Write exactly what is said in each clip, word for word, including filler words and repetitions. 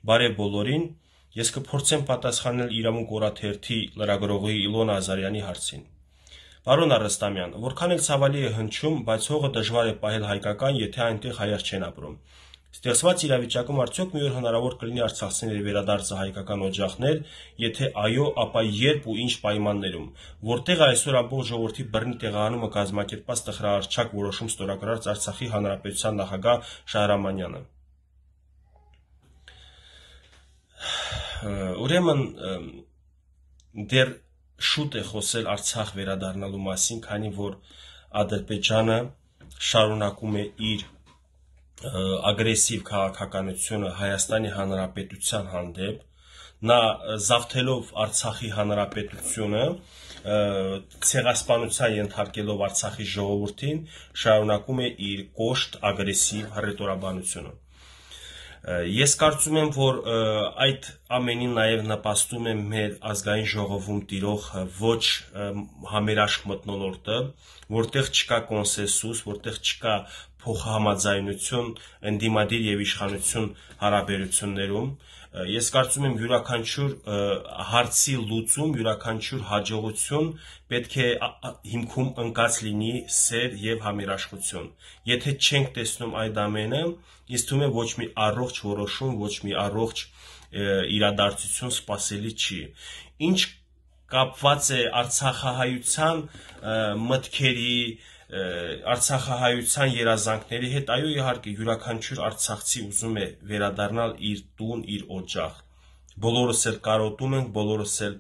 Բարև բոլորին, ես կփորձեմ պատասխանել իրավունք օրաթերթի լրագրողի Իլոնա Ազարյանի հարցին։ Պարոն Արստամյան, որքան էլ ցավալի է հնչում, բայց հողը դժվար է պահել հայկական, եթե այնտեղ հայեր չեն ապրում։ Ստեղծված իրավիճակում արդյոք մի օր հնարավոր կլինի արցախցիների վերադարձը հայկական օջախներ, եթե այո, ապա երբ ու ինչ պայմաններում, որտեղ այսօր ամբողջ ժողովրդի բռնի տեղահանումը կազմակերպած տխրահարչակ որոշում ստորագրած Արցախի հանրապետության նախագահ Շահրամանյանը։ Ուրեմն դեռ շուտ է խոսել Արցախ վերադառնալու մասին, քանի որ Ադրբեջանը շարունակում է իր ագրեսիվ քաղաքականությունը Հայաստանի Հանրապետության հանդեպ, նա զավթելով Արցախի Հանրապետությունը, ցեղասպանության ենթարկելով Արցախի ժողովրդին, շարունակում է իր կոշտ ագրեսիվ հռետորաբանությունը։ Ես կարծում եմ, որ այդ ամենին նաև նպաստում է մեր ազգային ժողովում տիրող ոչ համերաշխ մթնոլորտը, որտեղ չկա կոնսենսուս, որտեղ չկա փոխհամաձայնություն ընդդիմադիր եւ իշխանություն հարաբերություններում։ Ես կարծում եմ յուրաքանչյուր հարցի լուծում, յուրաքանչյուր հաջողություն պետք է հիմքում ընկած լինի սեր եւ համերաշխություն։ Եթե չենք տեսնում այդ ամենը, ինձ թվում է ոչ մի առողջ որոշում, ոչ մի առողջ իրադարձություն սպասելի չի։ Ինչ կապված է արցախահայության մտքերի, արցախահայության երազանքների հետ, այո, իհարկե, յուրաքանչյուր արցախցի ուզում է վերադառնալ իր տուն, իր օջախ։ Բոլորս էլ կարոտում ենք, բոլորս էլ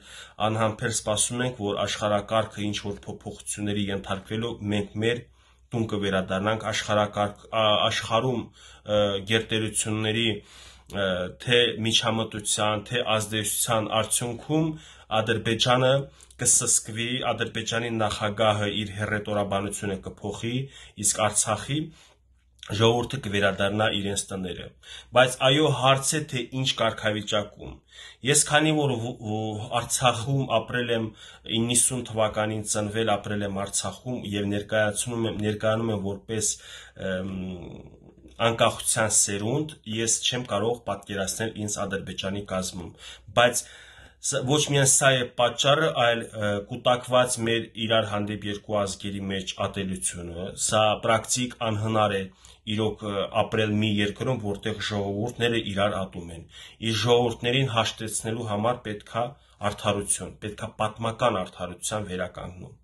անհամբեր սպասում ենք, որ աշխարհակարգը ինչ որ փոփոխությունների ենթարկվելով մենք մեր տուն կվերադառնանք, աշխարհակարգ աշխարհում գերտերությունների թե միջամտության, թե ազդեցության արդյունքում Ադրբեջանը կսսկվի, Ադրբեջանի նախագահը իր հռետորաբանությունը կփոխի, իսկ Արցախի ժողովուրդը կվերադառնա իրենց տները։ Բայց այո, հարց է, թե ինչ կարգավիճակում։ Ես քանի որ Արցախում ապրել եմ իննսուն թվականին ծնվել, ապրել եմ Արցախում եւ ներկայացնում եմ ներկայանում եմ որպես անկախության սերունդ, ես չեմ կարող պատկերացնել ինձ Ադրբեջանի կազմում, բայց ոչ միայն սա է պատճառը, այլ կուտակված մեր իրար հանդեպ երկու ազգերի մեջ ատելությունը, սա պրակտիկ անհնար է իրոք ապրել մի երկրում, որտեղ ժողովուրդները իրար ատում են։ Իր ժողովուրդներին հաշտեցնելու համար պետքա արդարություն, պետքա պատմական արդարության վերականգնում։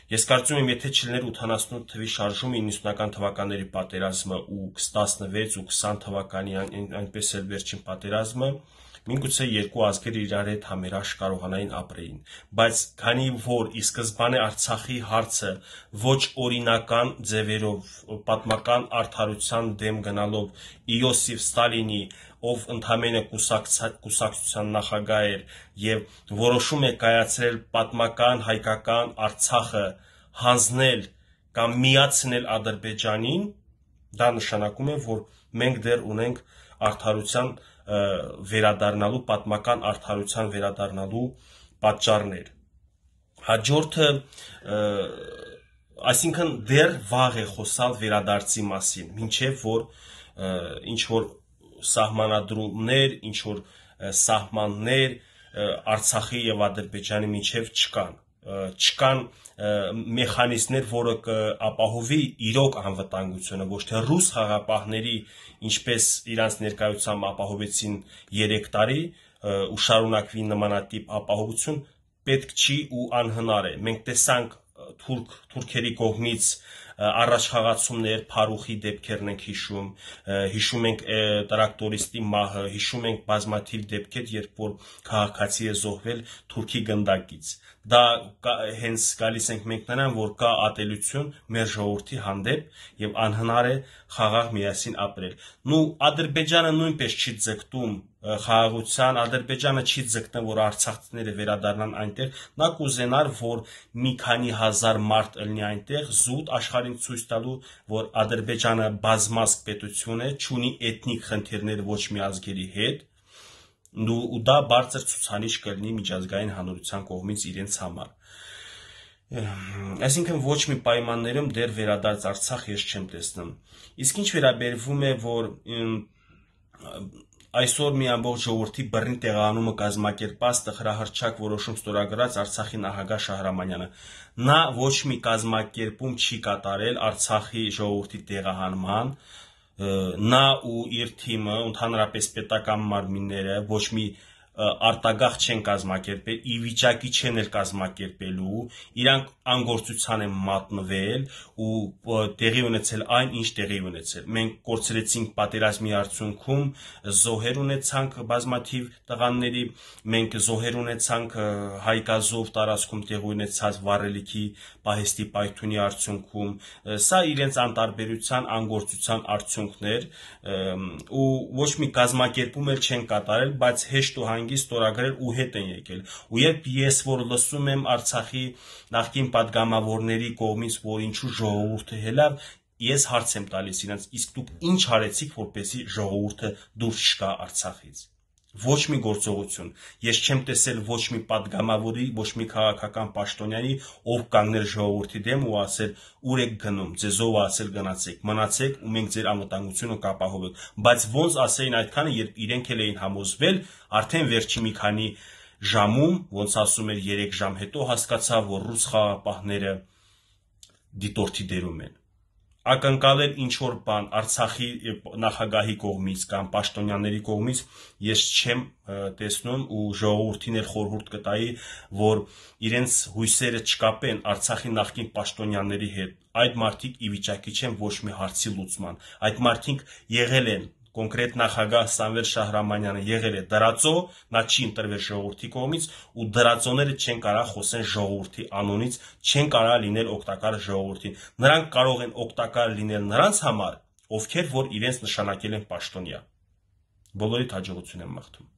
Ես կարծում եմ, եթե չլիներ ութանասունութ թվի շարժումը իննսունական թվականների պատերազմը ու տասնվեց ու քսան թվականի այնպես էլ վերջին պատերազմը, միգուցե երկու ազգերը իրար հետ համերաշխ կարողանային ապրեին, բայց քանի որ ի սկզբանե Արցախի հարցը ոչ օրինական ձևերով պատմական արդարության դեմ գնալով Իոսիֆ Ստալինի, ով ընդամենը կուսակցության նախագահ էր եւ որոշում է կայացրել պատմական հայկական Արցախը հանձնել կամ միացնել Ադրբեջանին, դա նշանակում է, որ մենք դեռ ունենք արդարության վերադառնալու, պատմական արդարության վերադառնալու պատճառներ։ Հաջորդը, այսինքն դեռ վաղ է խոսալ վերադարձի մասին, մինչև որ ինչ որ սահմանադրումներ, ինչ որ սահմաններ Արցախի եւ Ադրբեջանի միջև չկան, չկան մեխանիզմներ, որը կապահովի իրոք անվտանգությունը, ոչ թե ռուս խաղապահների, ինչպես իրանց ներկայությամբ ապահովեցին երեք տարի, ու շարունակվի նմանատիպ ապահովություն, պետք չի ու անհնար է։ Մենք տեսանք թուրք թուրքերի կողմից առաջխաղացումներ, Փարուխի դեպքերն ենք հիշում, հիշում ենք տրակտորիստի մահը, հիշում ենք բազմաթիվ դեպքեր, երբ որ քաղաքացի է զոհվել թուրքի գնդակից։ Դա հենց գալիս ենք մենք նրան, որ կա ատելություն մեր ժողովրդի հանդեպ եւ անհնար է խաղաղ միասին ապրել։ Նու Ադրբեջանը նույնպես չի ձգտում խաղաղության, Ադրբեջանը չի ձգտում, որ արցախցիները վերադառնան այնտեղ, նա կուզենար, որ մի քանի հազար մարդ ելնի այնտեղ, զուտ աշխարհին ցույց տալու, որ Ադրբեջանը բազմազգ պետություն է, չունի էթնիկ խնդիրներ ոչ մի ազգերի հետ, ու դա բարձր ցուցանիշ կլինի միջազգային հանրության կողմից իրենց համար։ Այսինքն ոչ մի պայմաններում դեռ վերադարձ Արցախ ես չեմ տեսնում։ Իսկ ինչ վերաբերվում է, որ այսօր մի ամբողջ ժողովրդի բռնի տեղահանումը կազմակերպած տխրահռչակ որոշում ստորագրած Արցախի նախագահ Շահրամանյանը։ Նա ոչ մի կազմակերպում չի կատարել Արցախի ժողովրդի տեղահանման, նա ու իր թիմը, ընդհանրապես պետական մարմինները ոչ մի արտագաղթ չեն կազմակերպել, ի վիճակի չեն էլ կազմակերպելու, իրանք անգործության են մատնվել ու տեղի ունեցել այն, ինչ տեղի ունեցել։ Մենք կորցրեցինք պատերազմի արդյունքում, զոհեր ունեցանք բազմաթիվ տղաների, մենք զոհեր ունեցանք Հայկազով տարածքում տեղի ունեցած վառելիքի պահեստի պայթյունի արդյունքում, սա իրենց անտարբերության, անգործության արդյունքներ ու ոչ մի կազմակերպում էլ չեն կատարել, բայց հեշտ ու հանգիստ ստորագրել ու հետ են եկել։ Ու երբ ես որ լսում եմ Արցախի նախկին падգամավորների կողմից, որ ինչու ժողովուրդը հելավ, ես հարց եմ տալիս իրենց, իսկ դուք ինչ արեցիք, որպեսզի ժողովուրդը դուրս չգա Արցախից։ Ոչ մի գործողություն։ Ես չեմ տեսել ոչ մի падգամավորի, ոչ մի քաղաքական պաշտոնյանի, ով կանգներ ժողովրդի դեմ ու ասել ուր եք գնում, ձեզով ասել գնացեք, մնացեք ու մենք ձեր անվտանգությունը կապահովենք։ Բայց ոնց ասեին այդքանը, երբ իրենք էլ էին համոզվել, արդեն վերջի մի քանի ժամում, ոնց ասում էր երեք ժամ հետո հասկացա, որ ռուս խաղաղապահները դիտորդի դերում են։ Ակնկալել ինչ որ բան Արցախի նախագահի կողմից կամ պաշտոնյաների կողմից ես չեմ տեսնում ու ժողովրդին էլ խորհուրդ կտայի, որ իրենց հույսերը չկապեն Արցախի նախկին պաշտոնյաների հետ։ Այդ մարդիկ ի վիճակի չեն ոչ մի հարցի լուծման։ Այդ մարդիկ եղել են կոնկրետ նախագահ Սամվել Շահրամանյանը եղել է դրածո, նա չի ընտրվել ժողովրդի կողմից ու դրածոները չեն կարող խոսեն ժողովրդի անունից, չեն կարող լինել օգտակար ժողովրդին։ Նրանք կարող են օգտակար լինել նրանց համար, ովքեր որ իրենց նշանակել են պաշտոնյա։ Բոլորիդ հաջողություն եմ մաղթում։